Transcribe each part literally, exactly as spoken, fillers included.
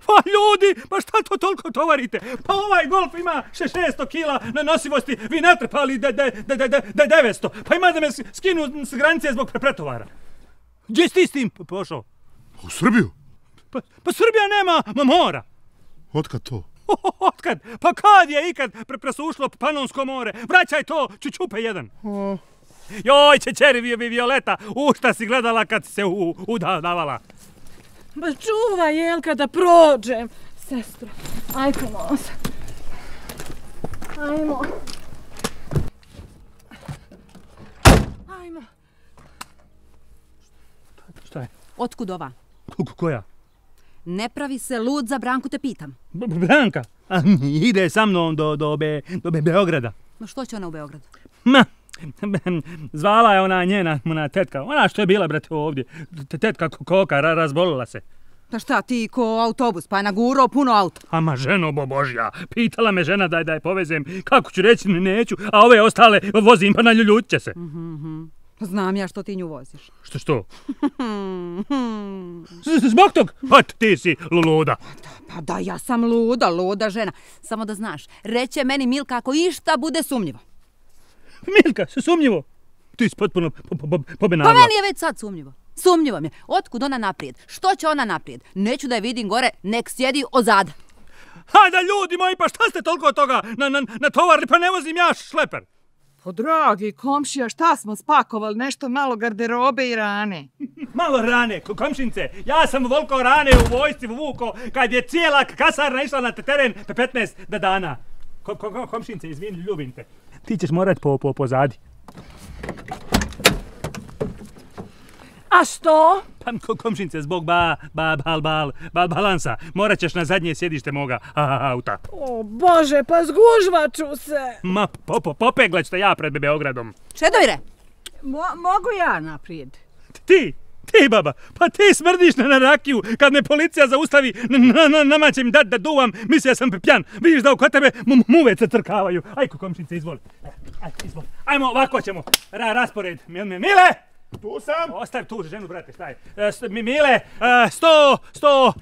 Pa ljudi, pa šta to toliko tovarite? Pa ovaj Golf ima šesto kila na nosivosti, vi natrpali devetsto. Pa ima da me skinu s granice zbog pretovara. Gdje si ti s tim pošao? U Srbiju? Pa, pa Srbija nema mora. Otkad to? Otkad? Pa kad je ikad pre presušlo Panonsko more? Vraćaj to, čučupe jedan. O. Joj, čećeri Violeta, u šta si gledala kad se udavala? Ba čuvaj, Jelka, da prođem. Sestro, ajmo nos. Ajmo. Ajmo. Šta je? Otkud ova? Koja? Ne pravi se lud, za Branku te pitam. Branka? A, ide sa mnom do, do, be, do be, Beograda. Ma što će ona u Beogradu? Ma, zvala je ona njena, ona tetka, ona što je bila, brate, ovdje. Tetka Koka, razbolila se. Pa šta, ti ko autobus, pa je nagurao puno auta. Ama ženo božja, pitala me žena da, da je povezem, kako ću reći, neću, a ove ostale vozim, pa naljuljutit će se. Mm-hmm. Znam ja što ti nju voziš. Što što? Zbog tog? Pa ti si luda. Pa da, ja sam luda, luda žena. Samo da znaš, reće meni Milka ako išta bude sumnjivo. Milka, sumnjivo? Ti si potpuno pobenavila. Pa meni je već sad sumnjivo. Sumnjivo mi je. Otkud ona naprijed? Što će ona naprijed? Neću da je vidim gore, nek sjedi ozada. Hajde ljudi moji, pa šta ste toliko od toga na, na, natovarili, pa ne vozim ja šleper. Po dragi komšija, šta smo spakovali? Nešto malo garderobe i rane. Malo rane, komšince. Ja sam volko rane u vojsci vuko kad je cijela kasarna išla na teren petnaest dana. Kom, kom, komšince, izvini, ljubim te. Ti ćeš morat po, po, pozadi. A što? Pa komšince, zbog ba, ba, bal, bal, bal, balansa, morat ćeš na zadnje sjedište moga auta. O Bože, pa zgužvaću se. Ma, po, po, popeglat ćete ja pred Beogradom. Čedovire! Mo, mogu ja naprijed? Ti, ti baba, pa ti smrdiš na, na rakiju kad me policija zaustavi, na, na, nama će mi dat da duvam, mislio sam pjan. Vidiš da oko tebe muvece crkavaju. Ajko komšince, izvoli. Ajde, izvoli. Ajmo, ovako ćemo. Ra, raspored. Mile! Tu sam. Ostavi tu ženu, brate, staj. E, Mile, sto, sto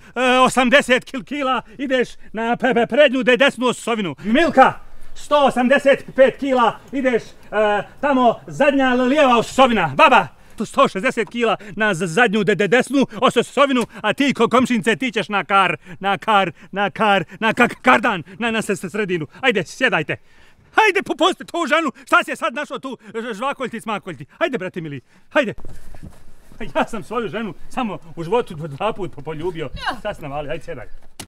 osamdeset kila ideš na pe, pe, prednju de, desnu osovinu. Milka, sto osamdeset pet kila ideš e, tamo zadnja lijeva osovina. Baba, sto šezdeset kila na zadnju de, de, desnu osovinu, a ti ko komšince ti ćeš na kar, na kar, na kar, na kar, kardan, na, na sredinu. Ajde, sjedajte. Hajde, popustite tu ženu, šta si je sad našao tu žvakoljti, smakoljti? Hajde, brate mili, hajde. Ja sam svoju ženu samo u životu dva put poljubio. Šta si navali, hajde, sjedaj.